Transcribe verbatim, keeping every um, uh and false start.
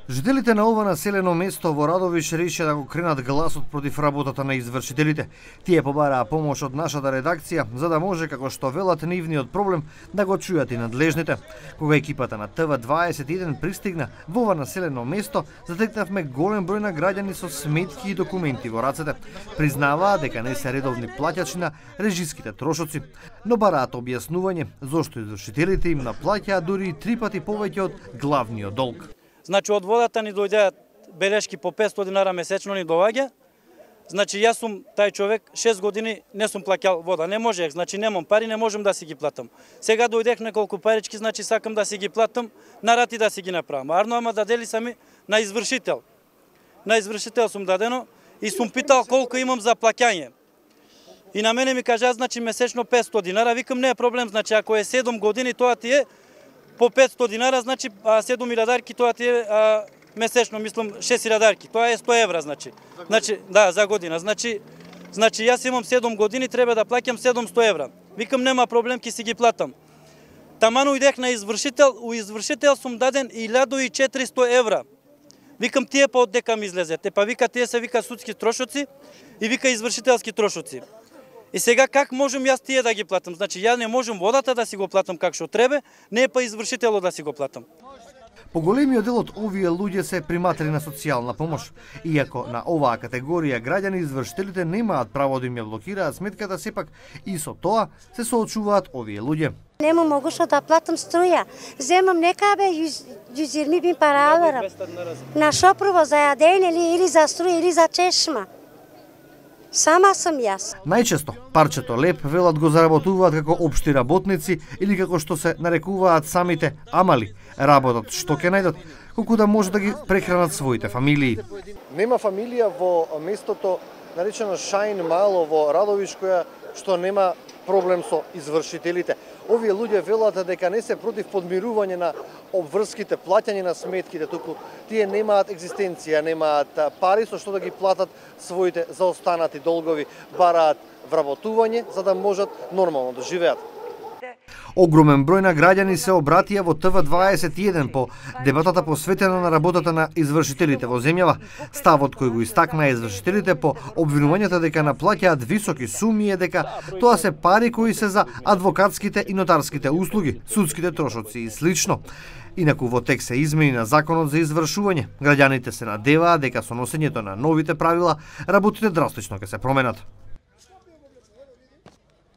Жителите на ова населено место во Радовиш решија да го кренат гласот против работата на извршителите. Тие побараа помош од нашата редакција за да може, како што велат, нивниот проблем да го чујат и надлежните. Кога екипата на Т В дваесет и еден пристигна во ова населено место, затекнавме голем број на граѓани со сметки и документи во рацете. Признаваа дека не се редовни плаќачи на режиските трошоци, но бараат објаснување зошто извршителите им наплаќаат дури и три пати повеќе од главниот долг. Значи од водата ни дојдеат белешки по петстотини динара месечно ни доаѓа. Значи јас сум тај човек, шест години не сум плаќал вода, не можех, значи немам пари, не можам да си ги платам. Сега дојдех неколку парички, значи сакам да си ги платам, на рати да си ги направам. Арно ама дадели сами на извршител. На извршител сум дадено и сум питал колку имам за плаќање. И на мене ми кажа, значи месечно петстотини динара, викам не е проблем, значи ако е седум години тоа ти е по петстотини динара, значи седум илјадарки тоа ти е а, месечно, мислам шест илјадарки. Тоа е сто евра, значи. Значи, да, за година. Значи, значи јас имам седум години, треба да плаќам седумсто евра. Викам нема проблем, ќе си ги платам. Таману идех на извршител, у извршител сум даден илјада и четиристо евра. Викам тие па од дека ми излезете. Па вика тие се вика судски трошоци и вика извршителски трошоци. И сега как можам јас тие да ги платам? Значи ја не можам водата да си го платам как што треба, не е па извршителот да си го платам. Поголемиот дел од овие луѓе се приматели на социјална помош. Иако на оваа категорија граѓани извршителите немаат право да им ја блокираат сметката, сепак и со тоа се соочуваат овие луѓе. Нема могуш да платам струја. Земам нека бе јузирми бим паралора. На шопруво за јадење или за струја или за чешма. Сама сум јас. Најчесто парчето леп велат го заработуваат како општи работници или како што се нарекуваат самите амали. Работат што ќе најдат, колку да може да ги прехранат своите фамилии. Нема фамилија во местото наречено Шајн Мало во Радовиш која што нема проблем со извршителите. Овие луѓе велат дека не се против подмирување на обврските, плаќање на сметките, туку тие немаат екзистенција, немаат пари со што да ги платат своите заостанати долгови, бараат вработување за да можат нормално да живеат. Огромен број на граѓани се обратија во Т В дваесет и еден по дебатата посветена на работата на извршителите во земјава. Ставот кој го истакна извршителите по обвинувањата дека наплаќаат високи суми е дека тоа се пари кои се за адвокатските и нотарските услуги, судските трошоци и слично. Инаку во текст се измени на законот за извршување. Граѓаните се надеваат дека со носењето на новите правила работите драстично ќе се променат.